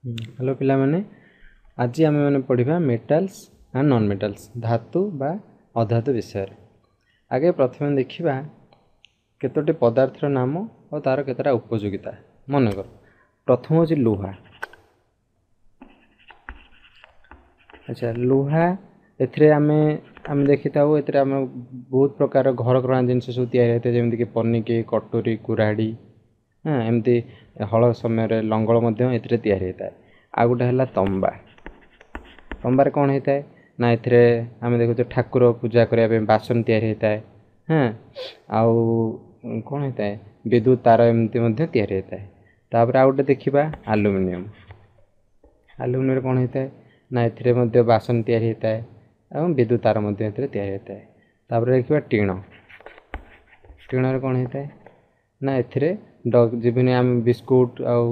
Hello ପିଲାମାନେ, ଆଜି ଆମେମାନେ ପଢ଼ିବା ମେଟାଲ୍ସ ଆଣ୍ଡ ନନ୍ ମେଟାଲ୍ସ, ଧାତୁ ବା ଅଧାତୁ ବିଷୟରେ। ଆଗେ ପ୍ରଥମେ ଦେଖିବା କେତୋଟି ପଦାର୍ଥର ନାମ ଓ ତା'ର କେତେଟା ଉପଯୋଗିତା। ମନେକର ପ୍ରଥମ ହେଉଛି ଲୁହା। ଆଚ୍ଛା, ଲୁହା ଏଥିରେ ଆମେ ଆମେ ଦେଖିଥାଉ, ଏଥିରେ ଆମେ ବହୁତ ପ୍ରକାର ଘରକରଣା ଜିନିଷ ସବୁ ତିଆରି ହୋଇଥାଏ, ଯେମିତିକି ପନିକି, କଟୁରୀ, କୁରାଢ଼ୀ, ହଁ, ଏମିତି ହଳ ସମୟରେ ଲଙ୍ଗଳ ମଧ୍ୟ ଏଥିରେ ତିଆରି ହୋଇଥାଏ। ଆଉ ଗୋଟେ ହେଲା ତମ୍ବା। ତମ୍ବାରେ କ'ଣ ହେଇଥାଏ ନା, ଏଥିରେ ଆମେ ଦେଖୁଛେ ଠାକୁର ପୂଜା କରିବା ପାଇଁ ବାସନ ତିଆରି ହୋଇଥାଏ। ହଁ, ଆଉ କ'ଣ ହେଇଥାଏ? ବିଦ୍ୟୁତ ତାର ଏମିତି ମଧ୍ୟ ତିଆରି ହୋଇଥାଏ। ତାପରେ ଆଉ ଗୋଟେ ଦେଖିବା ଆଲୁମିନିୟମ। ଆଲୁମିନିୟମରେ କ'ଣ ହେଇଥାଏ ନା, ଏଥିରେ ମଧ୍ୟ ବାସନ ତିଆରି ହୋଇଥାଏ ଏବଂ ବିଦ୍ୟୁତ ତାର ମଧ୍ୟ ଏଥିରେ ତିଆରି ହୋଇଥାଏ। ତାପରେ ଦେଖିବା ଟିଣ। ଟିଣରେ କ'ଣ ହେଇଥାଏ ନା, ଏଥିରେ ଯେମିତି ଆମେ ବିସ୍କୁଟ ଆଉ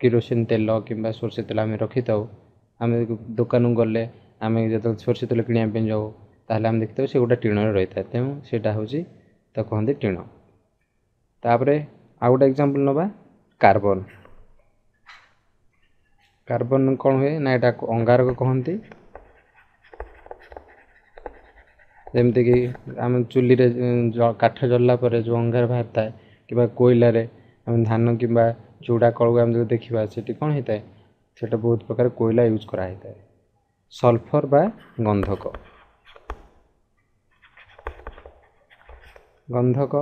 କିରୋସିନ ତେଲ କିମ୍ବା ସୋରିଷ ତେଲ ଆମେ ରଖିଥାଉ। ଆମେ ଦୋକାନକୁ ଗଲେ, ଆମେ ଯେତେବେଳେ ସୋରିଷ ତେଲ କିଣିବା ପାଇଁ ଯାଉ, ତାହେଲେ ଆମେ ଦେଖିଥାଉ ସେ ଗୋଟେ ଟିଣରେ ରହିଥାଏ। ତେଣୁ ସେଇଟା ହେଉଛି, ତାକୁ କହନ୍ତି ଟିଣ। ତାପରେ ଆଉ ଗୋଟେ ଏକ୍ଜାମ୍ପଲ୍ ନେବା, କାର୍ବନ। କାର୍ବନ କ'ଣ ହୁଏ ନା, ଏଇଟା ଅଙ୍ଗାରକ କହନ୍ତି। ଯେମିତିକି ଆମେ ଚୁଲିରେ କାଠ ଜଳିଲା ପରେ ଯେଉଁ ଅଙ୍ଗାର ବାହାରିଥାଏ, କିମ୍ବା କୋଇଲାରେ ଆମେ ଧାନ କିମ୍ବା ଚୁଡ଼ା କଳକୁ ଆମେ ଯଦି ଦେଖିବା, ସେଠି କ'ଣ ହେଇଥାଏ? ସେଇଟା ବହୁତ ପ୍ରକାର କୋଇଲା ୟୁଜ୍ କରାହେଇଥାଏ। ସଲଫର ବା ଗନ୍ଧକ। ଗନ୍ଧକ,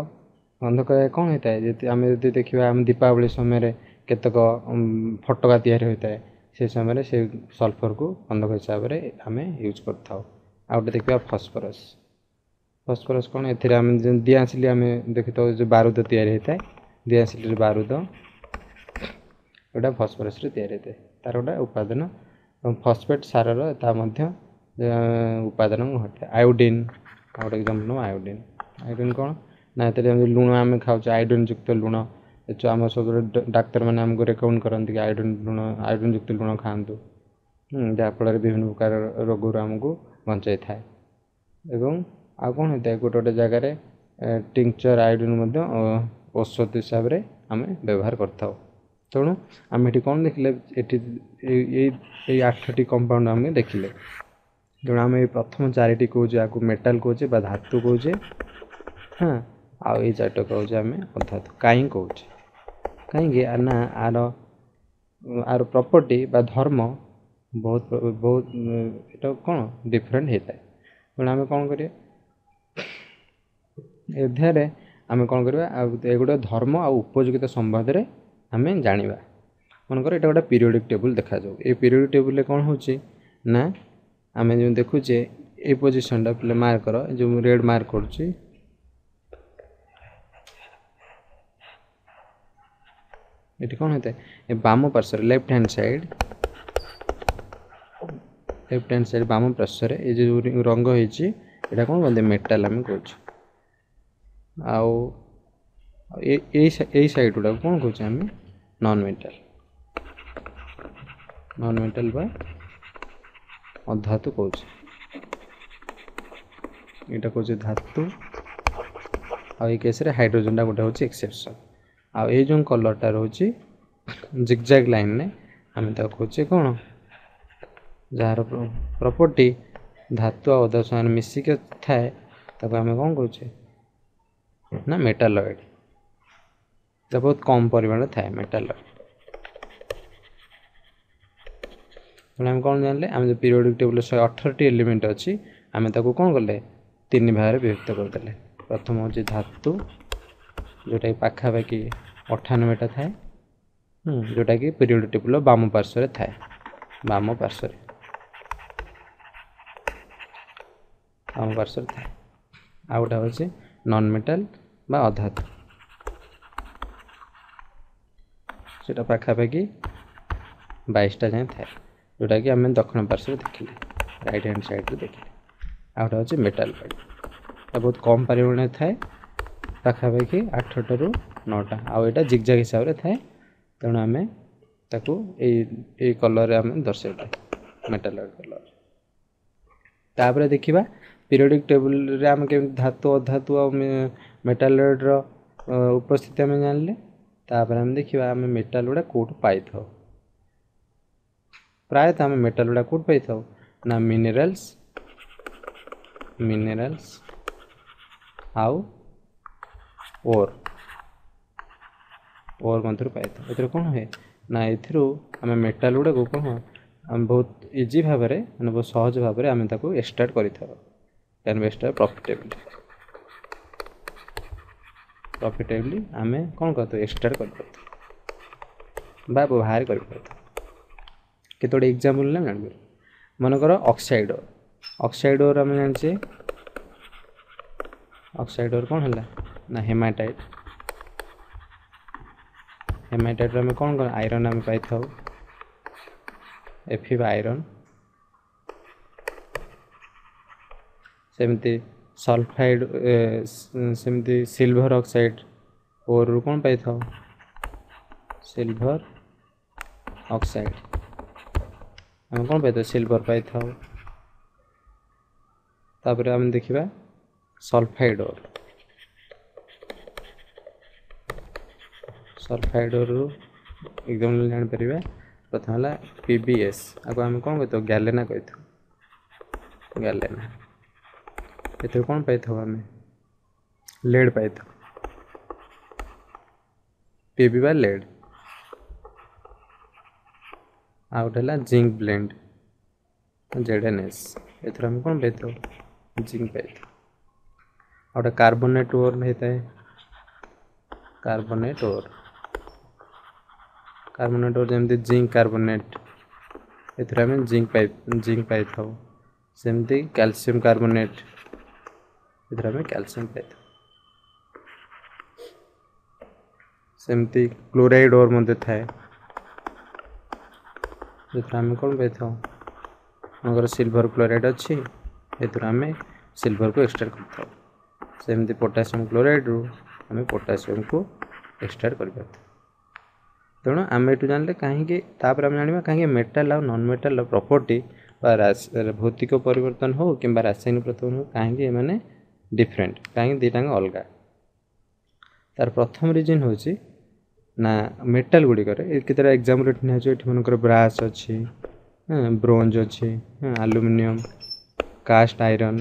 ଗନ୍ଧକ କ'ଣ ହେଇଥାଏ? ଯଦି ଆମେ ଯଦି ଦେଖିବା, ଆମେ ଦୀପାବଳି ସମୟରେ କେତେକ ଫଟକା ତିଆରି ହୋଇଥାଏ, ସେ ସମୟରେ ସେ ସଲଫରକୁ ଗନ୍ଧକ ହିସାବରେ ଆମେ ୟୁଜ୍ କରିଥାଉ। ଆଉ ଗୋଟେ ଦେଖିବା ଫସ୍ଫରସ୍। ଫସ୍ଫରସ୍ କ'ଣ? ଏଥିରେ ଆମେ ଦିଆସିଲି ଆମେ ଦେଖିଥାଉ ଯେଉଁ ବାରୁଦ ତିଆରି ହେଇଥାଏ, ଦିଆସିଲିରେ ବାରୁଦ ଏଇଟା ଫସ୍ଫରସ୍ରେ ତିଆରି ହେଇଥାଏ, ତାର ଗୋଟେ ଉପାଦାନ। ଏବଂ ଫସ୍ଫେଟ୍ ସାରର ତା ମଧ୍ୟ ଉପାଦାନ ଘଟିଥାଏ। ଆୟୋଡ଼ିନ୍, ଆଉ ଗୋଟେ ଏକ୍ଜାମ୍ପଲ୍ ନେବା ଆୟୋଡ଼ିନ୍। ଆୟୋଡ଼ିନ୍ କ'ଣ ନା, ଏଥିରେ ଯେମିତି ଲୁଣ ଆମେ ଖାଉଛେ, ଆୟୋଡ଼ିନ୍ ଯୁକ୍ତ ଲୁଣ ଆମ ସବୁବେଳେ ଡାକ୍ତରମାନେ ଆମକୁ ରେକମେଣ୍ଡ କରନ୍ତି କି ଆୟୋଡ଼ିନ୍ ଲୁଣ, ଆୟୋଡ଼ିନ୍ ଯୁକ୍ତ ଲୁଣ ଖାଆନ୍ତୁ, ଯାହାଫଳରେ ବିଭିନ୍ନ ପ୍ରକାର ରୋଗରୁ ଆମକୁ ବଞ୍ଚାଇଥାଏ। ଏବଂ ଆଉ କ'ଣ ହେଇଥାଏ? ଗୋଟେ ଗୋଟେ ଜାଗାରେ ଟିଙ୍କଚର୍ ଆୟୋଡ଼ିନ୍ ମଧ୍ୟ ଔଷଧ ହିସାବରେ ଆମେ ବ୍ୟବହାର କରିଥାଉ। ତେଣୁ ଆମେ ଏଠି କ'ଣ ଦେଖିଲେ? ଏଠି ଏଇ ଏଇ 8ଟି କମ୍ପାଉଣ୍ଡ ଆମେ ଦେଖିଲେ। ତେଣୁ ଆମେ ଏଇ ପ୍ରଥମ 4ଟି କହୁଛେ, ଆକୁ ମେଟାଲ କହୁଛେ ବା ଧାତୁ କହୁଛେ। ହଁ, ଆଉ ଏଇ 4ଟା କହୁଛେ ଆମେ ଅଧାତୁ। କାହିଁ କହୁଛେ? କାହିଁକି ନା ଆର ପ୍ରପର୍ଟି ବା ଧର୍ମ ବହୁତ ବହୁତ ଏଇଟା କ'ଣ ଡିଫରେଣ୍ଟ ହେଇଥାଏ। ତେଣୁ ଆମେ କ'ଣ କରିବା ଏ ଅଧ୍ୟାୟରେ? ଆମେ କ'ଣ କରିବା? ଆଉ ଏଗୁଡ଼ା ଧର୍ମ ଆଉ ଉପଯୋଗିତା ସମ୍ବନ୍ଧରେ ଆମେ ଜାଣିବା। ମନେକର ଏଇଟା ଗୋଟେ ପିରିୟଡ଼ିକ୍ ଟେବୁଲ୍ ଦେଖାଯାଉ। ଏଇ ପିରିୟଡ଼ିକ୍ ଟେବୁଲ୍ରେ କ'ଣ ହେଉଛି ନା, ଆମେ ଯେଉଁ ଦେଖୁଛେ ଏଇ ପୋଜିସନ୍ଟା ପିଲା ମାର୍କ କର, ଯେଉଁ ରେଡ଼୍ ମାର୍କ କରୁଛି, ଏଠି କ'ଣ ହେଇଥାଏ? ଏ ବାମ ପାର୍ଶ୍ୱରେ, left hand side, left hand side ବାମ ପାର୍ଶ୍ୱରେ ଏ ଯେଉଁ ରଙ୍ଗ ହେଇଛି, ଏଇଟା କ'ଣ କୁହନ୍ତି? ମେଟାଲ୍ ଆମେ କହୁଛୁ। ଆଉ ଏଇ ଏଇ ସାଇଡ଼୍ ଗୁଡ଼ାକୁ କ'ଣ କହୁଛେ ଆମେ? ନନ୍ ମେଟାଲ୍, ନନ୍ ମେଟାଲ୍ ବା ଅଧାତୁ କହୁଛେ। ଏଇଟା କହୁଛେ ଧାତୁ। ଆଉ ଏଇ କେସ୍ରେ ହାଇଡ୍ରୋଜେନଟା ଗୋଟେ ହେଉଛି ଏକ୍ସେପସନ୍। ଆଉ ଏଇ ଯେଉଁ କଲର୍ଟା ରହୁଛି ଜିଗଜାଗ ଲାଇନ୍ରେ, ଆମେ ତାକୁ କହୁଛେ କ'ଣ? ଯାହାର ପ୍ରପର୍ଟି ଧାତୁ ଆଉ ଅଧାତୁ ସାଙ୍ଗରେ ମିଶିକି ଥାଏ, ତାକୁ ଆମେ କ'ଣ କହୁଛେ ନା ମେଟାଲଏଡ଼। ବହୁତ କମ୍ ପରିମାଣରେ ଥାଏ ମେଟାଲଏଡ଼। ତେଣୁ ଆମେ କ'ଣ ଜାଣିଲେ? ଆମେ ଯେଉଁ ପିରିୟଡ଼ିକ୍ ଟେବୁଲ୍ରେ 118ଟି ଏଲିମେଣ୍ଟ ଅଛି, ଆମେ ତାକୁ କ'ଣ କଲେ? 3 ଭାଗରେ ବିଭକ୍ତ କରିଦେଲେ। ପ୍ରଥମ ହେଉଛି ଧାତୁ, ଯେଉଁଟାକି ପାଖାପାଖି 98ଟା ଥାଏ, ଯେଉଁଟାକି ପିରିୟଡ଼ିକ୍ ଟେବୁଲ୍ର ବାମ ପାର୍ଶ୍ୱରେ ଥାଏ, ବାମ ପାର୍ଶ୍ୱରେ, ବାମ ପାର୍ଶ୍ୱରେ ଥାଏ। ଆଉ ଗୋଟେ ହେଉଛି ନନ୍ ମେଟାଲ୍ ବା ଅଧାତୁ, ସେଇଟା ପାଖାପାଖି 22ଟା ଯାଏଁ ଥାଏ, ଯେଉଁଟାକି ଆମେ ଦକ୍ଷିଣ ପାର୍ଶ୍ୱରେ ଦେଖିଲେ, ରାଇଟ୍ ହ୍ୟାଣ୍ଡ ସାଇଡ଼୍ରେ ଦେଖିଲେ। ଆଉ ଗୋଟେ ହେଉଛି ମେଟାଲ୍ ପାର୍ଟ, ଏଟା ବହୁତ କମ୍ ପରିମାଣରେ ଥାଏ, ପାଖାପାଖି 8ଟାରୁ 9ଟା। ଆଉ ଏଇଟା ଜିଗଜାଗ ହିସାବରେ ଥାଏ, ତେଣୁ ଆମେ ତାକୁ ଏଇ ଏଇ କଲର୍ରେ ଆମେ ଦର୍ଶାଇଥାଏ, ମେଟାଲଏଡ଼ କଲର୍। ତାପରେ ଦେଖିବା ପିରିୟଡ଼ିକ୍ ଟେବୁଲ୍ରେ ଆମେ କେମିତି ଧାତୁ, ଅଧାତୁ ଆଉ ମେଟାଲଏଡ଼ର ଉପସ୍ଥିତି ଆମେ ଜାଣିଲେ। ତାପରେ ଆମେ ଦେଖିବା ଆମେ ମେଟାଲ୍ ଗୁଡ଼ା କେଉଁଠୁ ପାଇଥାଉ। ପ୍ରାୟତଃ ଆମେ ମେଟାଲ ଗୁଡ଼ା କେଉଁଠି ପାଇଥାଉ ନା ମିନେରାଲ୍ସ, ମିନେରାଲ୍ସ ଆଉ ଓର୍, ଓର୍ ମଧ୍ୟରୁ ପାଇଥାଉ। ଏଥିରେ କ'ଣ ହୁଏ ନା ଏଥିରୁ ଆମେ ମେଟାଲ ଗୁଡ଼ାକୁ କ'ଣ ଆମେ ବହୁତ ଇଜି ଭାବରେ, ମାନେ ବହୁତ ସହଜ ଭାବରେ ଆମେ ତାକୁ ଏକ୍ସଟ୍ରାକ୍ଟ କରିଥାଉ। Can be extract profitably, profitably ଆମେ କ'ଣ କରିଥାଉ, ଏକ୍ସଟ୍ରାକ୍ଟ କରିପାରିଥାଉ ବା ବାହାର କରିପାରିଥାଉ। କେତେ ଗୁଡ଼ିଏ ଏକ୍ଜାମ୍ପଲ୍ ହେଲେ ଆମେ ଜାଣିପାରିବୁ। ମନେକର ଅକ୍ସାଇଡ଼ ଓର୍, ଅକ୍ସାଇଡ଼ ଓର୍ ଆମେ ଜାଣିଛେ। ଅକ୍ସାଇଡ଼ ଓର୍ କ'ଣ ହେଲା ନା ହେମାଟାଇଟ୍। ହେମାଟାଇଟ୍ରୁ ଆମେ କ'ଣ କଣ ଆଇରନ୍ ଆମେ ପାଇଥାଉ, ଏଫି ବା ଆଇରନ୍। ସେମିତି ସଲଫାଇଡ଼, ସେମିତି ସିଲଭର ଅକ୍ସାଇଡ଼ ଓର୍ରୁ କ'ଣ ପାଇଥାଉ, ସିଲଭର ଅକ୍ସାଇଡ଼ ଆମେ କ'ଣ ପାଇଥାଉ, ସିଲଭର ପାଇଥାଉ। ତାପରେ ଆମେ ଦେଖିବା ସଲଫାଇଡ଼ ଓର୍। ସଲଫାଇଡ଼ ଓର୍ରୁ ଏକ୍ଜାମ୍ପଲ୍ ଜାଣିପାରିବା। ପ୍ରଥମ ହେଲା PBS, ଆକୁ ଆମେ କ'ଣ କହିଥାଉ, ଗ୍ୟାଲେନା କହିଥାଉ, ଗ୍ୟାଲେନା। ଏଥିରୁ କ'ଣ ପାଇଥାଉ ଆମେ, ଲେଡ୍ ପାଇଥାଉ, ପିବି ବା ଲେଡ୍। ଆଉ ଗୋଟେ ହେଲା ଜିଙ୍କ ବ୍ଲେଣ୍ଡ, ZNS, ଏଥିରୁ ଆମେ କ'ଣ ପାଇଥାଉ, ଜିଙ୍କ ପାଇଥାଉ। ଆଉ ଗୋଟେ କାର୍ବୋନେଟ୍ ଓର୍ ହେଇଥାଏ, କାର୍ବୋନେଟ୍ ଓର୍, କାର୍ବୋନେଟ୍ ଓର୍ ଯେମିତି ଜିଙ୍କ କାର୍ବୋନେଟ୍, ଏଥିରେ ଆମେ ଜିଙ୍କ ପାଇଥାଉ। ସେମିତି କ୍ୟାଲସିୟମ୍ କାର୍ବୋନେଟ୍, ଏଥିରେ ଆମେ କ୍ୟାଲସିୟମ୍ ପାଇଥାଉ। ସେମିତି କ୍ଲୋରାଇଡ୍ ଓର୍ ମଧ୍ୟ ଥାଏ, ଯେଉଁଥିରେ ଆମେ କ'ଣ ପାଇଥାଉ, ମନେକର ସିଲଭର କ୍ଲୋରାଇଡ୍ ଅଛି, ଏଥିରୁ ଆମେ ସିଲଭରକୁ ଏକ୍ସଟ୍ରାକ୍ଟ କରିଥାଉ। ସେମିତି ପୋଟାସିୟମ୍ କ୍ଲୋରାଇଡ୍ରୁ ଆମେ ପୋଟାସିୟମ୍କୁ ଏକ୍ସଟ୍ରାକ୍ଟ କରିପାରିଥାଉ। ତେଣୁ ଆମେ ଏଠୁ ଜାଣିଲେ କାହିଁକି, ତାପରେ ଆମେ ଜାଣିବା କାହିଁକି ମେଟାଲ ଆଉ ନନ୍ ମେଟାଲର ପ୍ରପର୍ଟି ବା ଭୌତିକ ପରିବର୍ତ୍ତନ ହେଉ କିମ୍ବା ରାସାୟନିକ ପରିବର୍ତ୍ତନ ହେଉ, କାହିଁକି ଏମାନେ ଡିଫରେଣ୍ଟ, କାହିଁକି ଦୁଇଟାଙ୍କ ଅଲଗା। ତାର ପ୍ରଥମ ରିଜନ୍ ହେଉଛି ନା ମେଟାଲ ଗୁଡ଼ିକରେ କେତେଟା ଏକ୍ଜାମ୍ପଲ୍ ଏଠି ନିଆଯାଉଛି। ଏଠି ମନେକର ବ୍ରାସ୍ ଅଛି, ବ୍ରୋଞ୍ଜ ଅଛି, ଆଲୁମିନିୟମ୍, କାଷ୍ଟ ଆଇରନ୍,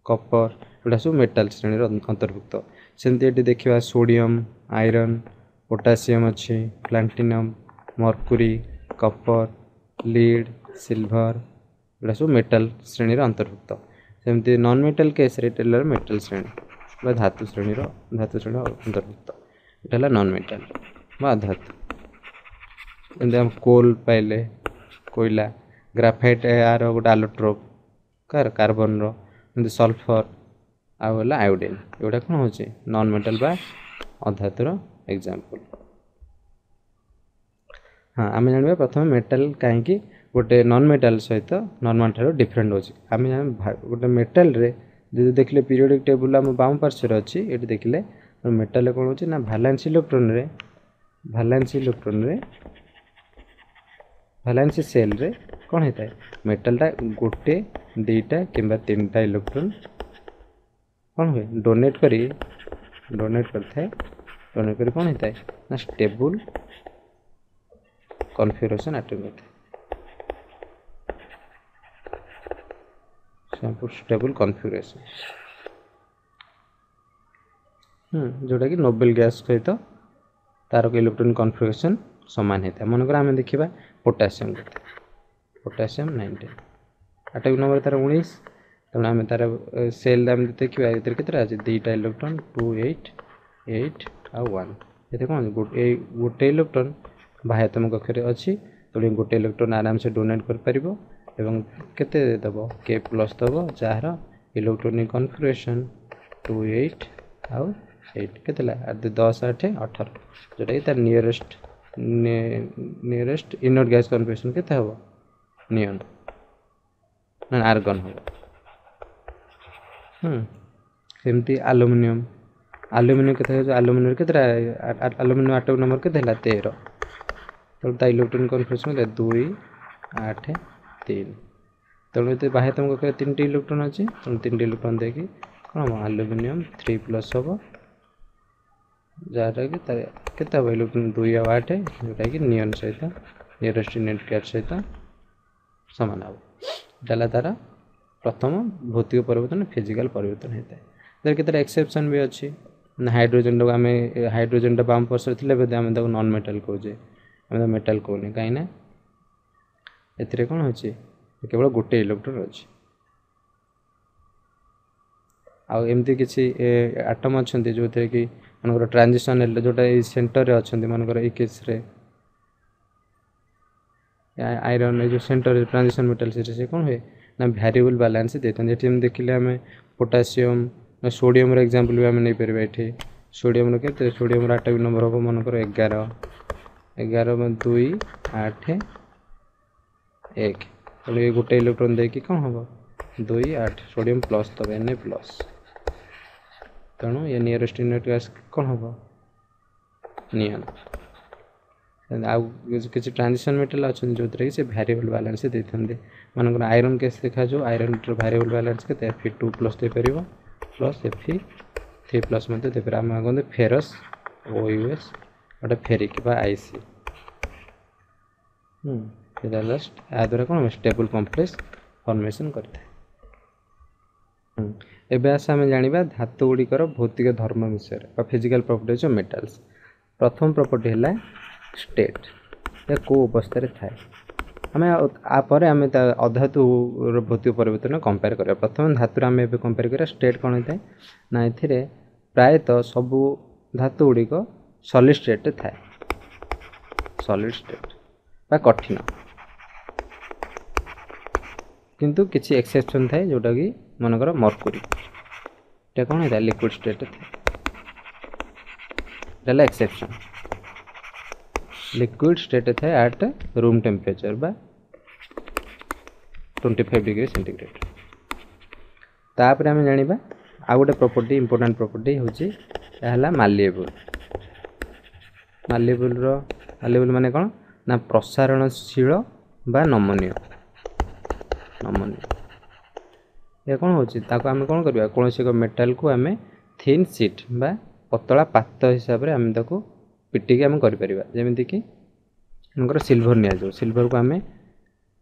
କପର, ଏଗୁଡ଼ା ସବୁ ମେଟାଲ ଶ୍ରେଣୀର ଅନ୍ତର୍ଭୁକ୍ତ। ସେମିତି ଏଠି ଦେଖିବା ସୋଡ଼ିୟମ୍, ଆଇରନ୍, ପୋଟାସିୟମ୍ ଅଛି, platinum, mercury, copper, lead, silver, ଏଗୁଡ଼ା ସବୁ ମେଟାଲ ଶ୍ରେଣୀର ଅନ୍ତର୍ଭୁକ୍ତ। ସେମିତି ନନ୍ ମେଟାଲ କେସ୍ରେ ଏଇଟା ହେଲା ମେଟାଲ ଶ୍ରେଣୀ ବା ଧାତୁ ଶ୍ରେଣୀର, ଧାତୁ ଶ୍ରେଣୀର ଅନ୍ତର୍ଭୁକ୍ତ। ଏଇଟା ହେଲା ନନ୍ ମେଟାଲ ବା ଅଧାତୁ। ଯେମିତି ଆମେ କୋଲ୍ ପାଇଲେ, କୋଇଲା, ଗ୍ରାଫାଇଟ୍ ଏହାର ଗୋଟେ ଆଲୋଟ୍ରୋପ୍ କାହାର, କାର୍ବନର। ଏମିତି ସଲଫର ଆଉ ହେଲା ଆୟୋଡ଼ିନ୍, ଏଗୁଡ଼ା କ'ଣ ହେଉଛି ନନ୍ ମେଟାଲ ବା ଅଧାତୁର ଏକ୍ଜାମ୍ପଲ୍। ହଁ, ଆମେ ଜାଣିବା ପ୍ରଥମେ ମେଟାଲ କାହିଁକି ଗୋଟେ ନନ୍ ମେଟାଲ ସହିତ ନର୍ମାଲ ଠାରୁ ଡିଫରେଣ୍ଟ ହେଉଛି। ଆମେ ଗୋଟେ ମେଟାଲରେ ଯଦି ଦେଖିଲେ ପିରିୟଡ଼ିକ୍ ଟେବୁଲ୍ ଆମ ବାମ ପାର୍ଶ୍ୱରେ ଅଛି, ଏଠି ଦେଖିଲେ ମେଟାଲରେ କ'ଣ ହେଉଛି ନା ଭାଲାନ୍ସ ଇଲେକ୍ଟ୍ରନରେ, ଭାଲାନ୍ସ ଇଲେକ୍ଟ୍ରନରେ, ଭାଲାନ୍ସ ସେଲ୍ରେ କ'ଣ ହେଇଥାଏ, ମେଟାଲଟା ଗୋଟେ, ଦୁଇଟା କିମ୍ବା ତିନିଟା ଇଲେକ୍ଟ୍ରନ୍ କ'ଣ ହୁଏ, ଡୋନେଟ୍ କରି, ଡୋନେଟ୍ କରିଥାଏ। ଡୋନେଟ୍ କରି କ'ଣ ହେଇଥାଏ ନା ଷ୍ଟେବୁଲ୍ କନଫିଗରେସନ୍ ଆଟେନ୍ କରିଥାଏ, ଷ୍ଟେବୁଲ୍ କନଫିଗରେସନ୍, ଯେଉଁଟାକି ନୋବେଲ ଗ୍ୟାସ୍ ସହିତ ତାର ଇଲେକ୍ଟ୍ରୋନିକ୍ କନଫିଗରେସନ୍ ସମାନ ହେଇଥାଏ। ମନେକର ଆମେ ଦେଖିବା ପୋଟାସିୟମ୍ କଥା, ପୋଟାସିୟମ୍ 19, ଆଟମିକ୍ ନମ୍ବର ତାର 19, ତେଣୁ ଆମେ ତାର ସେଲ୍ ଆମେ ଦେଖିବା ଏଥିରେ କେତେଟା ଅଛି, ଦୁଇଟା ଇଲେକ୍ଟ୍ରନ୍, 2 8 8 ଆଉ 1। ଏଥିରେ କ'ଣ ଏଇ ଗୋଟେ ଇଲେକ୍ଟ୍ରନ୍ ବାହ୍ୟତମ କକ୍ଷରେ ଅଛି, ତେଣୁ ଗୋଟେ ଇଲେକ୍ଟ୍ରନ୍ ଆରାମସେ ଡୋନେଟ୍ କରିପାରିବ ଏବଂ କେତେ ଦେବ, କେ ପ୍ଲସ୍ ଦେବ, ଯାହାର ଇଲେକ୍ଟ୍ରୋନିକ୍ କନଫିଗରେସନ୍ 2 8 ଆଉ 8, କେତେ ହେଲା 10 8 18, ଯେଉଁଟାକି ତାର ନିୟରେଷ୍ଟ, ନିୟରେଷ୍ଟ ଇନର୍ଟ ଗ୍ୟାସ୍ କନଫିଗରେସନ୍ କେତେ ହେବ, ନିଅନ୍ ନା ଆର୍ଗନ୍ ହେବ। ସେମିତି ଆଲୁମିନିୟମ୍, ଆଲୁମିନିୟମ୍ କେତେ ହେଉଛି, ଆଲୁମିନିୟମ୍ କେତେଟା, ଆଲୁମିନିୟମ୍ ଆଟମିକ୍ ନମ୍ବର କେତେ ହେଲା, 13, ତେଣୁ ତା ଇଲେକ୍ଟ୍ରୋନିକ୍ କନଫିଗରେସନ୍ କେତେ, 2 8 3। ତେଣୁ ଏଥିରେ ବାହ୍ୟତମ କକ୍ଷରେ 3ଟି ଇଲେକ୍ଟ୍ରନ୍ ଅଛି, ତେଣୁ 3ଟି ଇଲେକ୍ଟ୍ରନ୍ ଦେଇକି କ'ଣ ହେବ, ଆଲୁମିନିୟମ୍ 3 ପ୍ଲସ୍ ହେବ, ଯାହାଟାକି ତାର କେତେ ହେବ ଇଲେକ୍ଟ୍ରନ୍ 2 ଆଉ 8, ଯେଉଁଟାକି ନିଅନ୍ ସହିତ, ନିୟରେଷ୍ଟ ଇନର୍ଟ ଗ୍ୟାସ୍ ସହିତ ସମାନ ହେବ। ଏଇଟା ହେଲା ତା'ର ପ୍ରଥମ ଭୌତିକ ପରିବର୍ତ୍ତନ, ଫିଜିକାଲ୍ ପରିବର୍ତ୍ତନ ହେଇଥାଏ। ତାର କେତେଟା ଏକ୍ସେପସନ୍ ବି ଅଛି ନା, ହାଇଡ୍ରୋଜେନ୍ଟାକୁ ଆମେ, ହାଇଡ୍ରୋଜେନ୍ଟା ବାମ ପାର୍ଶ୍ୱରେ ଥିଲେ ବୋଧେ ଆମେ ତାକୁ ନନ୍ ମେଟାଲ୍ କହୁଛେ, ଆମେ ତାକୁ ମେଟାଲ୍ କହୁନେ, କାହିଁକିନା ଏଥିରେ କ'ଣ ଅଛି, କେବଳ ଗୋଟେ ଇଲେକ୍ଟ୍ରୋନ୍ ଅଛି। ଆଉ ଏମିତି କିଛି ଆଟମ୍ ଅଛନ୍ତି ଯେଉଁଥିରେ କି ମନେକର ଟ୍ରାଞ୍ଜିସନ୍ ହେଲେ, ଯେଉଁଟା ଏଇ ସେଣ୍ଟରରେ ଅଛନ୍ତି, ମନେକର ଏଇ କେସ୍ରେ ଆଇରନ୍, ଏଇ ଯେଉଁ ସେଣ୍ଟରରେ ଟ୍ରାଞ୍ଜିସନ୍ ମେଟାଲ୍, ସେଠି ସେ କ'ଣ ହୁଏ ନା ଭ୍ୟାରିଏବୁଲ୍ ବାଲାନ୍ସ ଦେଇଥାନ୍ତି। ଏଠି ଯେମିତି ଦେଖିଲେ ଆମେ ପୋଟାସିୟମ୍, ସୋଡ଼ିୟମର ଏକ୍ଜାମ୍ପଲ୍ ବି ଆମେ ନେଇପାରିବା। ଏଠି ସୋଡ଼ିୟମର କେତେ, ସୋଡ଼ିୟମର ଆଟମିକ୍ ନମ୍ବର ହେବ ମନେକର 11, 11, 2, 8, 1। ତେଣୁ ଏ ଗୋଟେ ଇଲେକ୍ଟ୍ରନ୍ ଦେଇକି କ'ଣ ହେବ, 2, 8, ସୋଡ଼ିୟମ୍ ପ୍ଲସ୍ ଦେବ, ଏନ୍ ଏ ପ୍ଲସ୍। ତେଣୁ ଏ ନିୟରେଷ୍ଟ ଇନର୍ଟ ଗ୍ୟାସ୍ କ'ଣ ହେବ, ନିଅନ୍। ଆଉ କିଛି ଟ୍ରାଞ୍ଜିସନ୍ ମେଟାଲ୍ ଅଛନ୍ତି ଯେଉଁଥିରେ କି ସେ ଭ୍ୟାରିଏବୁଲ୍ ବାଲାନ୍ସ ଦେଇଥାନ୍ତି। ମନେକର ଆଇରନ୍ କେସ୍ ଦେଖାଯାଉ, ଆଇରନ୍ର ଭ୍ୟାରିଏବୁଲ୍ ବାଲାନ୍ସ କେତେ, ଏଫ୍ ଟୁ ପ୍ଲସ୍ ଦେଇପାରିବ, ପ୍ଲସ୍ ଏଫ୍ ଥ୍ରୀ ପ୍ଲସ୍ ମଧ୍ୟ ଦେଇପାରିବ। ଆମେ କହନ୍ତି ଫେରସ୍ ଓ ୟୁ ଏସ୍, ଗୋଟେ ଫେରିକ୍ ବା I C. ସେଇଟା ହେଲା, ଏହା ଦ୍ୱାରା କ'ଣ ଷ୍ଟେବୁଲ୍ କମ୍ପ୍ଲେକ୍ସ ଫର୍ମେସନ୍ କରିଥାଏ। ଏବେ ଆସ ଆମେ ଜାଣିବା ଧାତୁ ଗୁଡ଼ିକର ଭୌତିକ ଧର୍ମ ବିଷୟରେ ବା ଫିଜିକାଲ୍ ପ୍ରପର୍ଟିଜ୍ ଅଫ୍ ମେଟାଲ୍ସ। ପ୍ରଥମ ପ୍ରପର୍ଟି ହେଲା ଷ୍ଟେଟ୍, ଏହା କେଉଁ ଅବସ୍ଥାରେ ଥାଏ। ଆମେ ଆପରେ ଆମେ ତା ଅଧାତୁର ଭୌତିକ ପରିବର୍ତ୍ତନ କମ୍ପେୟାର କରିବା। ପ୍ରଥମେ ଧାତୁରେ ଆମେ ଏବେ କମ୍ପେୟାର କରିବା ଷ୍ଟେଟ୍ କ'ଣ ହେଇଥାଏ ନା, ଏଥିରେ ପ୍ରାୟତଃ ସବୁ ଧାତୁ ଗୁଡ଼ିକ ସଲିଡ୍ ଷ୍ଟେଟ୍ରେ ଥାଏ, ସଲିଡ୍ ଷ୍ଟେଟ୍ ବା କଠିନ। କିନ୍ତୁ କିଛି ଏକ୍ସେପସନ୍ ଥାଏ, ଯେଉଁଟାକି ମନେକର ମର୍କୁରୀ, ଏଇଟା କ'ଣ ହେଇଥାଏ, ଲିକ୍ୱିଡ଼ ଷ୍ଟେଟ୍ରେ ଥାଏ। ଏଇଟା ହେଲା ଏକ୍ସେପସନ୍। ଲିକ୍ୱିଡ଼ ଷ୍ଟେଟ୍ରେ ଥାଏ ଆଟ୍ ରୁମ୍ ଟେମ୍ପରେଚର୍ ବା 25 ଡିଗ୍ରୀ ସେଣ୍ଟିଗ୍ରେଡ଼। ତାପରେ ଆମେ ଜାଣିବା ଆଉ ଗୋଟେ ପ୍ରପର୍ଟି, ଇମ୍ପୋର୍ଟାଣ୍ଟ ପ୍ରପର୍ଟି ହେଉଛି, ଏହା ହେଲା ମାଲିଏବୁଲ୍। ମାଲିଏବୁଲ୍ର, ମାଲିଏବୁଲ୍ ମାନେ କ'ଣ ନା ପ୍ରସାରଣଶୀଳ ବା ନମନୀୟ। ନମନୀୟ ଏହା କ'ଣ ହେଉଛି, ତାକୁ ଆମେ କ'ଣ କରିବା, କୌଣସି ଏକ ମେଟାଲକୁ ଆମେ ଥିନ୍ ସିଟ୍ ବା ପତଳା ପାତ ହିସାବରେ ଆମେ ତାକୁ ପିଟିକି ଆମେ କରିପାରିବା। ଯେମିତିକି ମନେକର ସିଲଭର ନିଆଯାଉ, ସିଲଭରକୁ ଆମେ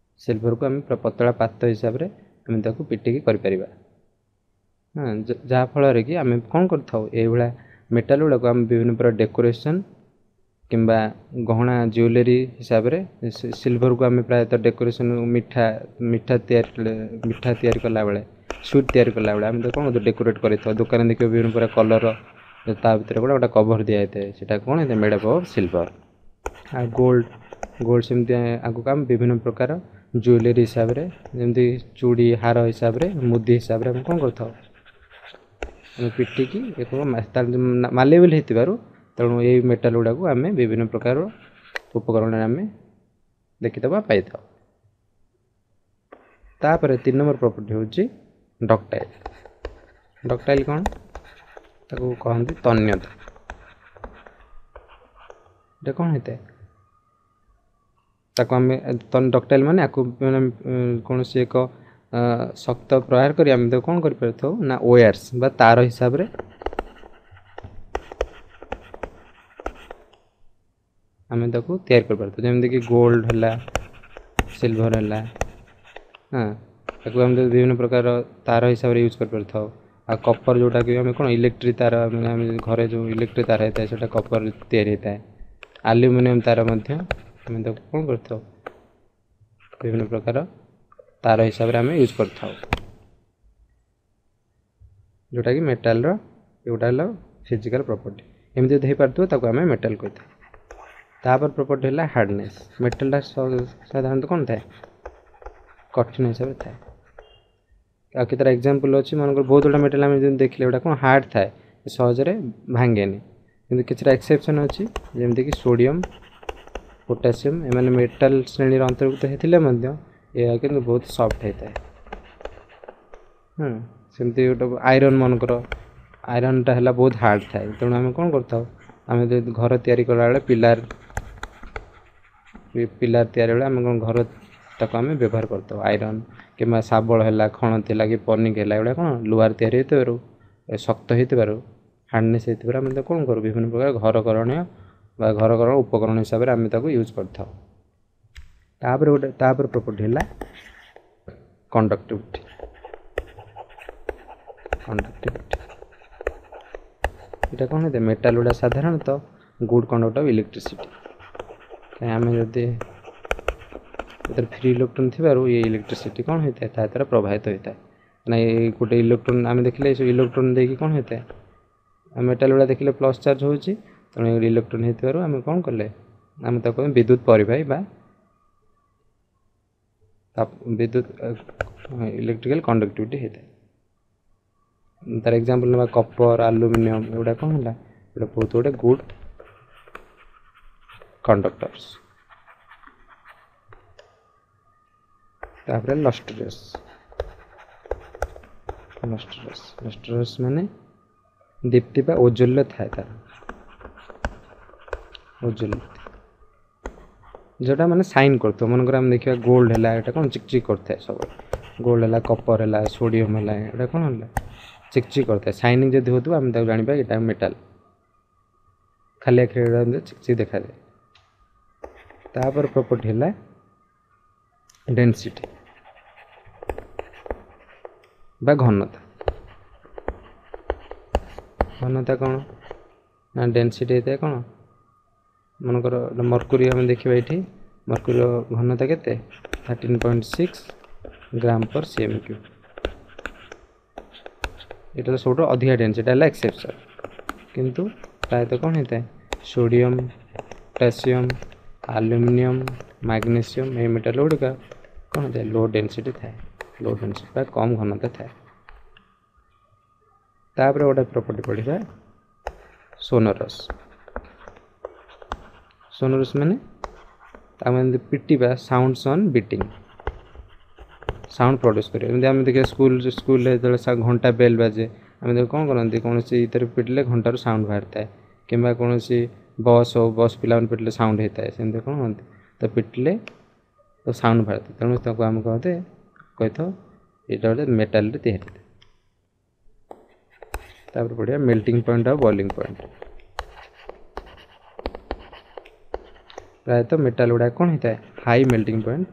ପୁରା ପତଳା ପାତ ହିସାବରେ ଆମେ ତାକୁ ପିଟିକି କରିପାରିବା। ହଁ, ଯାହାଫଳରେ କି ଆମେ କ'ଣ କରିଥାଉ, ଏଇଭଳିଆ ମେଟାଲ ଗୁଡ଼ାକୁ ଆମେ ବିଭିନ୍ନ ପ୍ରକାର ଡେକୋରେସନ୍ କିମ୍ବା ଗହଣା ଜୁଏଲାରୀ ହିସାବରେ, ସିଲଭରକୁ ଆମେ ପ୍ରାୟତଃ ଡେକୋରେସନ୍, ମିଠା ତିଆରି, ମିଠା ତିଆରି କଲାବେଳେ, ସୁଇଟ୍ ତିଆରି କଲାବେଳେ ଆମେ ତାକୁ କ'ଣ ଡେକୋରେଟ୍ କରିଥାଉ। ଦୋକାନରେ ଦେଖିବ ବିଭିନ୍ନ ପ୍ରକାର କଲର୍, ତା ଭିତରେ ଗୋଟେ କଭର୍ ଦିଆଯାଇଥାଏ, ସେଇଟା କ'ଣ ହେଇଥାଏ, ମେଡ଼୍ ଅପ୍ ଅଫ୍ ସିଲଭର। ଆଉ ଗୋଲ୍ଡ, ଗୋଲ୍ଡ ସେମିତି ଆଗକୁ ଆମେ ବିଭିନ୍ନ ପ୍ରକାର ଜୁଏଲାରୀ ହିସାବରେ, ଯେମିତି ଚୁଡ଼ି, ହାର ହିସାବରେ, ମୁଦି ହିସାବରେ ଆମେ କ'ଣ କରିଥାଉ, ଆମେ ପିଟିକି ଏକ ମାଲେବଲ୍ ହେଇଥିବାରୁ, ତେଣୁ ଏଇ ମେଟାଲ୍ ଗୁଡ଼ାକୁ ଆମେ ବିଭିନ୍ନ ପ୍ରକାର ଉପକରଣରେ ଆମେ ଦେଖିଥାଉ ବା ପାଇଥାଉ। ତାପରେ 3 ନମ୍ବର ପ୍ରପର୍ଟି ହେଉଛି ଡକ୍ଟାଇଲ୍। ଡକ୍ଟାଇଲ୍ କ'ଣ, ତାକୁ କହନ୍ତି ତନ୍ୟତା। ଏଇଟା କ'ଣ ହେଇଥାଏ, ତାକୁ ଆମେ ଡକ୍ଟାଇଲ୍ ମାନେ ଆକୁ ମାନେ କୌଣସି ଏକ ଶକ୍ତ ପ୍ରହାର କରି ଆମେ ତାକୁ କ'ଣ କରିପାରିଥାଉ ନା ୱେୟାର୍ସ ବା ତାର ହିସାବରେ ଆମେ ତାକୁ ତିଆରି କରିପାରିଥାଉ। ଯେମିତିକି ଗୋଲ୍ଡ ହେଲା, ସିଲଭର ହେଲା, ହଁ, ତାକୁ ଆମେ ବିଭିନ୍ନ ପ୍ରକାର ତାର ହିସାବରେ ୟୁଜ୍ କରିପାରିଥାଉ। ଆଉ କପର୍, ଯେଉଁଟାକି ଆମେ କ'ଣ ଇଲେକ୍ଟ୍ରିକ୍ ତାର, ମାନେ ଆମେ ଘରେ ଯେଉଁ ଇଲେକ୍ଟ୍ରିକ୍ ତାର ହେଇଥାଏ ସେଇଟା କପର୍ ତିଆରି ହେଇଥାଏ। ଆଲୁମିନିୟମ୍ ତାର ମଧ୍ୟ ଆମେ ତାକୁ କ'ଣ କରିଥାଉ, ବିଭିନ୍ନ ପ୍ରକାର ତାର ହିସାବରେ ଆମେ ୟୁଜ୍ କରିଥାଉ, ଯେଉଁଟାକି ମେଟାଲର ଏଗୁଡ଼ା ହେଲା ଫିଜିକାଲ୍ ପ୍ରପର୍ଟି। ଏମିତି ଯଦି ହେଇପାରୁଥିବ ତାକୁ ଆମେ ମେଟାଲ୍ କହିଥାଉ। ତାପରେ ପ୍ରପର୍ଟି ହେଲା ହାର୍ଡ଼ନେସ୍। ମେଟାଲଟା ସାଧାରଣତଃ କ'ଣ ଥାଏ, କଠିନ ହିସାବରେ ଥାଏ। ଆଉ କେତେଟା ଏକ୍ଜାମ୍ପଲ୍ ଅଛି, ମନେକର ବହୁତ ଗୁଡ଼ା ମେଟାଲ୍ ଆମେ ଯେମିତି ଦେଖିଲେ ଏଗୁଡ଼ା କ'ଣ ହାର୍ଡ଼ ଥାଏ, ସହଜରେ ଭାଙ୍ଗେନି। କିନ୍ତୁ କିଛିଟା ଏକ୍ସେପସନ୍ ଅଛି, ଯେମିତିକି ସୋଡ଼ିୟମ୍, ପୋଟାସିୟମ୍, ଏମାନେ ମେଟାଲ୍ ଶ୍ରେଣୀର ଅନ୍ତର୍ଭୁକ୍ତ ହେଇଥିଲେ ମଧ୍ୟ ଏହା କିନ୍ତୁ ବହୁତ ସଫ୍ଟ ହେଇଥାଏ। ସେମିତି ଗୋଟେ ଆଇରନ୍, ମନେକର ଆଇରନ୍ଟା ହେଲା ବହୁତ ହାର୍ଡ଼ ଥାଏ। ତେଣୁ ଆମେ କ'ଣ କରିଥାଉ, ଆମେ ଯଦି ଘର ତିଆରି କଲାବେଳେ ପିଲାର ତିଆରି ବେଳେ ଆମେ କ'ଣ ଘର ତାକୁ ଆମେ ବ୍ୟବହାର କରିଥାଉ ଆଇରନ୍, କିମ୍ବା ଶାବଳ ହେଲା, ଖଣତି ହେଲା କି ପନିକି ହେଲା, ଏଗୁଡ଼ା କ'ଣ ଲୁହାରେ ତିଆରି ହେଇଥିବାରୁ, ଶକ୍ତ ହେଇଥିବାରୁ, ହାର୍ଡ଼ନେସ୍ ହେଇଥିବାରୁ ଆମେ ତାକୁ କ'ଣ କରୁ, ବିଭିନ୍ନ ପ୍ରକାର ଘର କରଣୀୟ ବା ଘର କରଣ ଉପକରଣ ହିସାବରେ ଆମେ ତାକୁ ୟୁଜ୍ କରିଥାଉ। ତାପରେ ଗୋଟେ ତାପରେ ପ୍ରପର୍ଟି ହେଲା କଣ୍ଡକ୍ଟିଭିଟି। କଣ୍ଡକ୍ଟିଭିଟି ଏଇଟା କ'ଣ ହେଇଥାଏ? ମେଟାଲ ଗୁଡ଼ା ସାଧାରଣତଃ ଗୁଡ୍ କଣ୍ଡକ୍ଟ ଅଫ୍ ଇଲେକ୍ଟ୍ରିସିଟି। କାହିଁ ଆମେ ଯଦି ଏଥିରେ ଫ୍ରି ଇଲେକ୍ଟ୍ରନ୍ ଥିବାରୁ ଏ ଇଲେକ୍ଟ୍ରିସିଟି କ'ଣ ହୋଇଥାଏ? ତା ଦ୍ୱାରା ପ୍ରବାହିତ ହୋଇଥାଏ। ମାନେ ଏଇ ଗୋଟେ ଇଲେକ୍ଟ୍ରନ୍ ଆମେ ଦେଖିଲେ ଏସବୁ ଇଲେକ୍ଟ୍ରନ୍ ଦେଇକି କ'ଣ ହୋଇଥାଏ? ମେଟାଲ ଗୁଡ଼ା ଦେଖିଲେ ପ୍ଲସ୍ ଚାର୍ଜ ହେଉଛି, ତେଣୁ ଇଲେକ୍ଟ୍ରନ୍ ହେଇଥିବାରୁ ଆମେ କ'ଣ କଲେ, ଆମେ ତାକୁ ବିଦ୍ୟୁତ ପରିବାହୀ ବା ବିଦ୍ୟୁତ ଇଲେକ୍ଟ୍ରିକାଲ କଣ୍ଡକ୍ଟିଭିଟି ହେଇଥାଏ। ତାର ଏକ୍ଜାମ୍ପଲ୍ ନେବା କପର, ଆଲୁମିନିୟମ, ଏଗୁଡ଼ା କ'ଣ ହେଲା? ଏଗୁଡ଼ା ବହୁତ ଗୋଟେ ଗୁଡ୍ କଣ୍ଡକ୍ଟର୍ସ। ତାପରେ ଲଷ୍ଟ୍ରିୟସ୍। ଲଷ୍ଟ୍ରିୟସ୍, ଲଷ୍ଟ୍ରିୟସ୍ ମାନେ ଦୀପ୍ତି ବା ଔଜ୍ଜ୍ୱଲ୍ୟ ଥାଏ ତାର, ଔଜ୍ଜ୍ୱଲ୍ୟ ଯେଉଁଟା ମାନେ ସାଇନ୍ କରୁଥିବ। ମନେକର ଆମେ ଦେଖିବା ଗୋଲ୍ଡ ହେଲା, ଏଇଟା କ'ଣ ଚିକ୍ ଚିକ୍ କରୁଥାଏ ସବୁବେଳେ। ଗୋଲ୍ଡ ହେଲା, କପର ହେଲା, ସୋଡ଼ିୟମ୍ ହେଲା, ଏଇଟା କ'ଣ ହେଲା? ଚିକ୍ ଚିକ୍ କରୁଥାଏ। ସାଇନିଂ ଯଦି ହେଉଥିବ ଆମେ ତାକୁ ଜାଣିବା ଏଇଟା ମେଟାଲ। ଖାଲି ଆଖିରେ ଏଇଟା ଏମିତି ଚିକ୍ ଚିକ୍ ଦେଖାଯାଏ। ତାପରେ ପ୍ରପର୍ଟି ହେଲା ଡେନ୍ସିଟି ବା ଘନତା। ଘନତା କ'ଣ ନା ଡେନ୍ସିଟି ହେଇଥାଏ କ'ଣ? ମନେକର ମର୍କୁରୀ ଆମେ ଦେଖିବା ଏଇଠି, ମର୍କୁରୀର ଘନତା କେତେ? 13.6 ଗ୍ରାମ ପର୍ cm cube. ଏଇଟା ତ ସବୁଠୁ ଅଧିକା ଡେନ୍ସିଟି ହେଲା, ଏକ୍ସେପସନ୍। କିନ୍ତୁ ପ୍ରାୟତଃ କ'ଣ ହେଇଥାଏ? ସୋଡ଼ିୟମ୍, ପୋଟାସିୟମ୍, ଆଲୁମିନିୟମ୍, ମାଗ୍ନେସିୟମ୍, ଏଇ ମେଟାଲ ଗୁଡ଼ିକ କ'ଣ ହେଇଥାଏ? ଲୋ ଡେନ୍ସିଟି ଥାଏ, ଲୋ ଡେନ୍ସିଟି ବା କମ୍ ଘନତା ଥାଏ। ତାପରେ ଗୋଟେ ପ୍ରପର୍ଟି ପଢ଼ିବା, ସୋନରସ୍। ସୋନରସ୍ ମାନେ ତାକୁ ଏମିତି ପିଟିବା, sound on beating, sound produce କରିବ। ଏମିତି ଆମେ ଦେଖିବା ସ୍କୁଲରେ ଯେତେବେଳେ ଘଣ୍ଟା ବେଲ୍ ବାଜେ, ଆମେ ତାକୁ କ'ଣ କରନ୍ତି? କୌଣସି ଇଥିରେ ପିଟିଲେ ଘଣ୍ଟାରୁ ସାଉଣ୍ଡ ବାହାରିଥାଏ, କିମ୍ବା କୌଣସି ବସ୍ ହଉ, ବସ୍ ପିଲାମାନେ ପିଟିଲେ ସାଉଣ୍ଡ ହେଇଥାଏ। ସେମିତି କ'ଣ କରନ୍ତି ତ ପିଟିଲେ ତ ସାଉଣ୍ଡ ବାହାରିଥାଏ। ତେଣୁ ତାକୁ ଆମେ କହନ୍ତି କହିଥାଉ ଏଇଟା ଗୋଟେ ମେଟାଲରେ ତିଆରି ହେଇଥାଏ। ତାପରେ ପଢ଼ିବା ମେଲ୍ଟିଂ ପଏଣ୍ଟ ଆଉ ବଏଲିଂ ପଏଣ୍ଟ। ପ୍ରାୟତଃ ମେଟାଲ ଗୁଡ଼ାକ କ'ଣ ହେଇଥାଏ? ହାଇ ମେଲ୍ଟିଂ ପଏଣ୍ଟ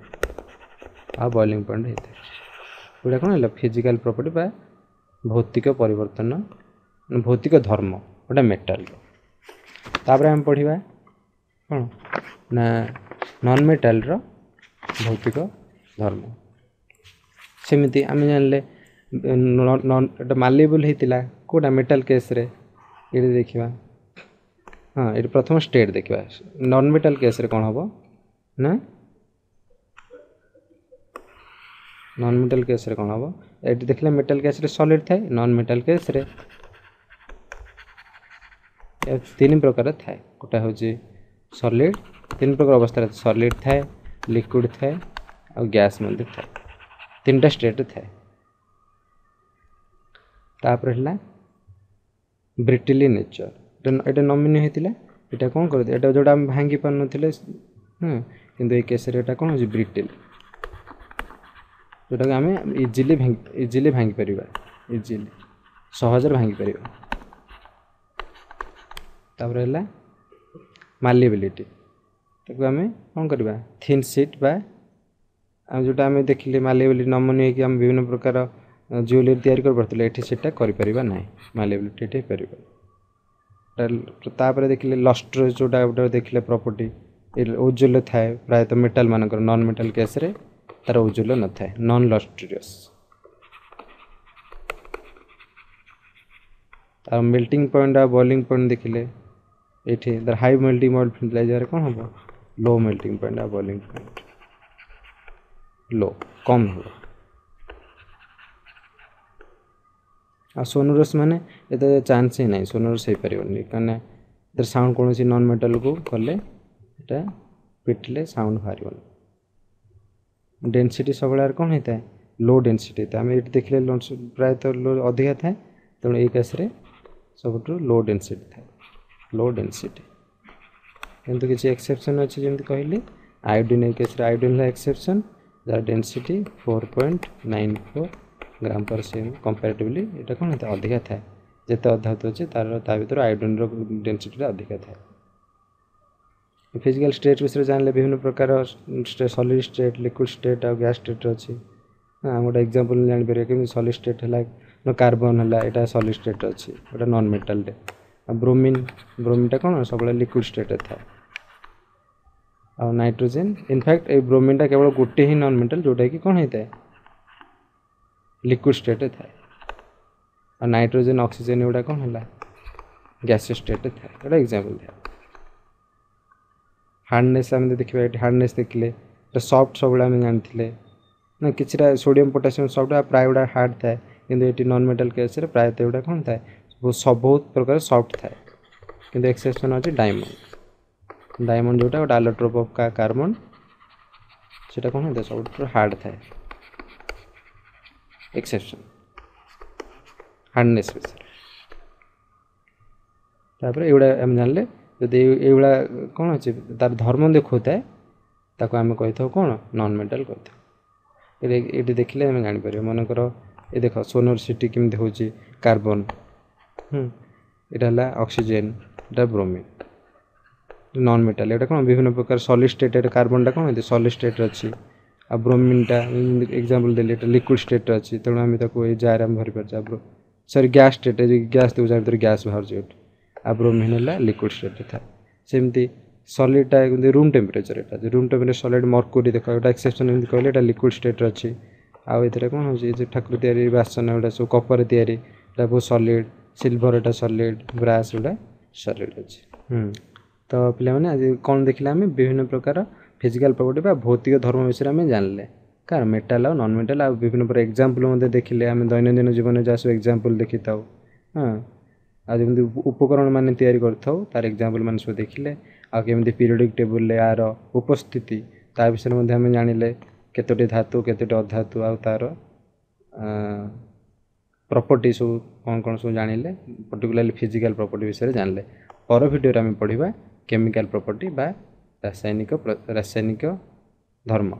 ଆଉ ବଏଲିଂ ପଏଣ୍ଟ ହେଇଥାଏ। ଏଗୁଡ଼ା କ'ଣ ହେଲା? ଫିଜିକାଲ ପ୍ରପର୍ଟି ବା ଭୌତିକ ପରିବର୍ତ୍ତନ, ଭୌତିକ ଧର୍ମ ଗୋଟେ ମେଟାଲର। ତାପରେ ଆମେ ପଢ଼ିବା କ'ଣ ନା ନନ୍ ମେଟାଲର ଭୌତିକ ଧର୍ମ। ସେମିତି ଆମେ ଜାଣିଲେ ଏଟା ମାଲିଏବଲ୍ ହେଇଥିଲା କେଉଁଟା ମେଟାଲ କେସ୍ରେ। ଏଇଠି ଦେଖିବା, ହଁ, ଏଇଠି ପ୍ରଥମ ଷ୍ଟେଟ୍ ଦେଖିବା। ନନ୍ ମେଟାଲ କେସ୍ରେ କ'ଣ ହେବ ନା, ନନ୍ ମେଟାଲ କେସ୍ରେ କ'ଣ ହେବ? ଏଠି ଦେଖିଲେ ମେଟାଲ କେସ୍ରେ ସଲିଡ୍ ଥାଏ, ନନ୍ ମେଟାଲ କେସ୍ରେ ତିନି ପ୍ରକାର ଥାଏ। ଗୋଟେ ହେଉଛି ସଲିଡ୍, ତିନି ପ୍ରକାର ଅବସ୍ଥାରେ ସଲିଡ୍ ଥାଏ, ଲିକ୍ୱିଡ଼ ଥାଏ ଆଉ ଗ୍ୟାସ୍ ମଧ୍ୟ ଥାଏ। ତିନିଟା ଷ୍ଟେଟ୍ ଥାଏ। ତାପରେ ହେଲା ବ୍ରିଟିଲି ନେଚର। ଏଇଟା ନମିନି ହେଇଥିଲା। ଏଇଟା କ'ଣ କରିଦିଏ? ଏଇଟା ଯେଉଁଟା ଆମେ ଭାଙ୍ଗି ପାରୁନଥିଲେ, କିନ୍ତୁ ଏଇ କେସ୍ରେ ଏଇଟା କ'ଣ ହେଉଛି? ବ୍ରିଟିଲ୍, ଯେଉଁଟାକି ଆମେ ଇଜିଲି ଭାଙ୍ଗିପାରିବା, ଇଜିଲି ସହଜରେ ଭାଙ୍ଗିପାରିବା। ତାପରେ ହେଲା ମାଲିଏବିଲିଟି। ତାକୁ ଆମେ କ'ଣ କରିବା? ଥିନ୍ ସିଟ୍ ବା ଆଉ ଯେଉଁଟା ଆମେ ଦେଖିଲେ ମାଲିଏବିଲିଟି ନମନୀୟ ହେଇକି ଆମେ ବିଭିନ୍ନ ପ୍ରକାର ଜୁଏଲେରୀ ତିଆରି କରିପାରୁଥିଲେ, ଏଠି ସେଇଟା କରିପାରିବା ନାହିଁ, ମାଲିଏବିଲିଟି ଏଠି ହେଇପାରିବ। ତାପରେ ଦେଖିଲେ ଲଷ୍ଟ୍ର, ଯେଉଁଟା ଗୋଟେ ଦେଖିଲେ ପ୍ରପର୍ଟି, ଔଜ୍ଜ୍ୱଲ୍ୟ ଥାଏ ପ୍ରାୟତଃ ମେଟାଲ ମାନଙ୍କର। ନନ୍ ମେଟାଲ କେସ୍ରେ ତାର ଔଜ୍ଜ୍ୱଲ୍ୟ ନଥାଏ, ନନ୍ ଲଷ୍ଟ୍ରିୟସ୍। ଆଉ ମେଲ୍ଟିଂ ପଏଣ୍ଟ ଆଉ ବଏଲିଂ ପଏଣ୍ଟ ଦେଖିଲେ ଏଇଠି ତାର ହାଇ ମେଲ୍ଟିଂ ପଏଣ୍ଟ ଥିଲା, ଏ ଜାଗାରେ କ'ଣ ହେବ? ଲୋ ମେଲ୍ଟିଂ ପଏଣ୍ଟ ଆଉ ବଏଲିଂ ପଏଣ୍ଟ ଲୋ, କମ୍ ହେବ। ଆଉ ସୋନରସ୍ ମାନେ ଏତେ ଚାନ୍ସ ହିଁ ନାହିଁ, ସୋନରସ୍ ହେଇପାରିବନି, କାହିଁକିନା ଏଥିରେ ସାଉଣ୍ଡ କୌଣସି ନନ୍ ମେଟାଲକୁ କଲେ ଏଇଟା ପିଟିଲେ ସାଉଣ୍ଡ ବାହାରିବନି। ଡେନ୍ସିଟି ସବୁବେଳେ କ'ଣ ହେଇଥାଏ? ଲୋ ଡେନ୍ସିଟି ହେଇଥାଏ। ଆମେ ଏଇଠି ଦେଖିଲେ ପ୍ରାୟତଃ ଲୋ ଅଧିକା ଥାଏ, ତେଣୁ ଏଇ କେସ୍ରେ ସବୁଠୁ ଲୋ ଡେନ୍ସିଟି ଥାଏ, ଲୋ ଡେନ୍ସିଟି। କିନ୍ତୁ କିଛି ଏକ୍ସେପସନ୍ ଅଛି, ଯେମିତି କହିଲି ଆୟୋଡ଼ିନ୍। ଏଇ କେସ୍ରେ ଆୟୋଡ଼ିନ୍ ହେଲା ଏକ୍ସେପସନ୍, ଯାହାର ଡେନ୍ସିଟି 4.94 ଗ୍ରାମ ପର୍ ସିଏମ୍। କମ୍ପାରେଟିଭଲି ଏଇଟା କ'ଣ ହେଇଥାଏ? ଅଧିକା ଥାଏ। ଯେତେ ଅଧାତୁ ଅଛି ତାର ତା ଭିତରୁ ଆୟୋଡ଼ିନ୍ର ଡେନ୍ସିଟିଟା ଅଧିକା ଥାଏ। ଫିଜିକାଲ୍ ଷ୍ଟେଟ୍ ବିଷୟରେ ଜାଣିଲେ, ବିଭିନ୍ନ ପ୍ରକାର ସଲିଡ୍ ଷ୍ଟେଟ୍, ଲିକ୍ୱିଡ଼ ଷ୍ଟେଟ୍ ଆଉ ଗ୍ୟାସ୍ ଷ୍ଟେଟ୍ ଅଛି। ହଁ, ଗୋଟେ ଏକ୍ଜାମ୍ପଲ୍ ଜାଣିପାରିବା କେମିତି। ସଲିଡ୍ ଷ୍ଟେଟ୍ ହେଲା କାର୍ବନ୍ ହେଲା, ଏଇଟା ସଲିଡ୍ ଷ୍ଟେଟ୍ ଅଛି, ଏଇଟା ନନ୍ ମେଟାଲ୍ଟେ। ଆଉ ବ୍ରୋମିନ୍, ବ୍ରୋମିନ୍ଟା କ'ଣ ସବୁବେଳେ ଲିକ୍ୱିଡ଼ ଷ୍ଟେଟ୍ରେ ଥାଏ। ଆଉ ନାଇଟ୍ରୋଜେନ୍, ଇନଫ୍ୟାକ୍ଟ ଏଇ ବ୍ରୋମିନ୍ଟା କେବଳ ଗୋଟେ ହିଁ ନନ୍ ମେଟାଲ୍ ଯେଉଁଟାକି କ'ଣ ହେଇଥାଏ, ଲିକ୍ୱିଡ଼ ଷ୍ଟେଟ୍ରେ ଥାଏ। ଆଉ ନାଇଟ୍ରୋଜେନ୍, ଅକ୍ସିଜେନ୍ ଏଗୁଡ଼ା କ'ଣ ହେଲା, ଗ୍ୟାସିୟସ୍ ଷ୍ଟେଟ୍ରେ ଥାଏ। ଏଇଟା ଏକ୍ଜାମ୍ପଲ୍ ଥାଏ। ହାର୍ଡ଼ନେସ୍ ଆମେ ଦେଖିବା ଏଠି, ହାର୍ଡ଼ନେସ୍ ଦେଖିଲେ ଏଟା ସଫ୍ଟ ସବୁବେଳେ ଆମେ ଜାଣିଥିଲେ ନା, କିଛିଟା ସୋଡ଼ିୟମ୍, ପୋଟାସିୟମ୍ ସଫ୍ଟ, ଆଉ ପ୍ରାୟ ଗୁଡ଼ା ହାର୍ଡ଼ ଥାଏ। କିନ୍ତୁ ଏଠି ନନ୍ ମେଟାଲ୍ କେସ୍ରେ ପ୍ରାୟତଃ ଏଗୁଡ଼ା କ'ଣ ଥାଏ, ବହୁତ ପ୍ରକାର ସଫ୍ଟ ଥାଏ। କିନ୍ତୁ ଏକ୍ସେପସନ୍ ଅଛି ଡାଇମଣ୍ଡ। ଡାଇମଣ୍ଡ ଯେଉଁଟା ଗୋଟେ ଆଲୋଟ୍ରୋପ୍ ଅଫ୍ କାର୍ବନ୍, ସେଇଟା କ'ଣ ହେଇଥାଏ, ସବୁଠୁ ହାର୍ଡ଼ ଥାଏ। ଏକ୍ସେପସନ୍ ହାର୍ଡ଼ନେସ୍ ବିଷୟରେ। ତାପରେ ଏଇଗୁଡ଼ା ଆମେ ଜାଣିଲେ, ଯଦି ଏଇଭଳିଆ କ'ଣ ଅଛି, ତାର ଧର୍ମ ଦେଖାଉଥାଏ, ତାକୁ ଆମେ କହିଥାଉ କ'ଣ, ନନ୍ ମେଟାଲ୍ କହିଥାଉ। ଏଇଠି ଦେଖିଲେ ଆମେ ଜାଣିପାରିବା। ମନେକର ଏ ଦେଖ, ସୋନରସିଟି କେମିତି ହେଉଛି, କାର୍ବନ୍, ଏଇଟା ହେଲା ଅକ୍ସିଜେନ୍, ଏଇଟା ବ୍ରୋମିନ୍, ନନ୍ ମେଟାଲ୍। ଏଇଟା କ'ଣ ବିଭିନ୍ନ ପ୍ରକାର ସଲିଡ୍ ଷ୍ଟେଟ୍। ଏଇଟା କାର୍ବନଟା କ'ଣ ହେଇଛି, ସଲିଡ୍ ଷ୍ଟେଟ୍ରେ ଅଛି। ଆଉ ବ୍ରୋମିନ୍ଟା ଏକ୍ଜାମ୍ପଲ୍ ଦେଲି, ଏଇଟା ଲିକ୍ୱିଡ଼ ଷ୍ଟେଟ୍ରେ ଅଛି, ତେଣୁ ଆମେ ତାକୁ ଏଇ ଜାରେ ଆମେ ଭରିପାରୁଛେ। ଆଉ ସରି, ଗ୍ୟାସ୍ ଷ୍ଟେଟ୍, ଗ୍ୟାସ୍ ଦେଉଛି, ଭିତରେ ଗ୍ୟାସ୍ ବାହାରୁଛି ଏଠୁ। ଆଉ ବ୍ରୋମିନ୍ ହେଲା ଲିକ୍ୱିଡ଼ ଷ୍ଟେଟ୍ରେ ଥାଏ। ସେମିତି ସଲିଡ଼୍ଟା ଏମିତି ରୁମ୍ ଟେମ୍ପରେଚର୍, ଏଇଟା ରୁମ୍ ଟେମ୍ପରେଚର୍ ସଲିଡ଼୍ ମର୍କୁରୀ ଦେଖ, ଏଇଟା ଏକ୍ସେପସନ୍ ଏମିତି କହିଲେ, ଏଇଟା ଲିକ୍ୱିଡ଼ ଷ୍ଟେଟ୍ରେ ଅଛି। ଆଉ ଏଥିରେ କ'ଣ ହେଉଛି, ଏ ଯେଉଁ ଠାକୁର ତିଆରି ବାସନ ଏଗୁଡ଼ା ସବୁ କପରରେ ତିଆରି, ଏଇଟା ବହୁତ ସଲିଡ଼୍। ସିଲଭର ଏଇଟା ସଲିଡ଼୍, ବ୍ରାସ୍ ଗୁଡ଼ା ସଲିଡ଼୍ ଅଛି। ତ ପିଲାମାନେ, ଆଜି କ'ଣ ଦେଖିଲେ ଆମେ? ବିଭିନ୍ନ ପ୍ରକାର ଫିଜିକାଲ୍ ପ୍ରପର୍ଟି ବା ଭୌତିକ ଧର୍ମ ବିଷୟରେ ଆମେ ଜାଣିଲେ, କାହାର, ମେଟାଲ୍ ଆଉ ନନ୍ ମେଟାଲ୍। ଆଉ ବିଭିନ୍ନ ପ୍ରକାର ଏକ୍ଜାମ୍ପଲ୍ ମଧ୍ୟ ଦେଖିଲେ ଆମେ, ଦୈନନ୍ଦିନ ଜୀବନରେ ଯାହା ସବୁ ଏକ୍ଜାମ୍ପଲ୍ ଦେଖିଥାଉ। ହଁ, ଆଉ ଯେମିତି ଉପକରଣ ମାନେ ତିଆରି କରିଥାଉ, ତାର ଏକ୍ଜାମ୍ପଲ୍ ମାନେ ସବୁ ଦେଖିଲେ। ଆଉ କେମିତି ପିରିୟଡ଼ିକ୍ ଟେବୁଲ୍ରେ ଏହାର ଉପସ୍ଥିତି, ତା ବିଷୟରେ ମଧ୍ୟ ଆମେ ଜାଣିଲେ, କେତୋଟି ଧାତୁ, କେତୋଟି ଅଧାତୁ, ଆଉ ତାର ପ୍ରପର୍ଟି ସବୁ କ'ଣ କ'ଣ ସବୁ ଜାଣିଲେ, ପର୍ଟିକୁଲାରଲି ଫିଜିକାଲ୍ ପ୍ରପର୍ଟି ବିଷୟରେ ଜାଣିଲେ। ପର ଭିଡ଼ିଓରେ ଆମେ ପଢ଼ିବା କେମିକାଲ୍ ପ୍ରପର୍ଟି ବା ରାସାୟନିକ ଧର୍ମ।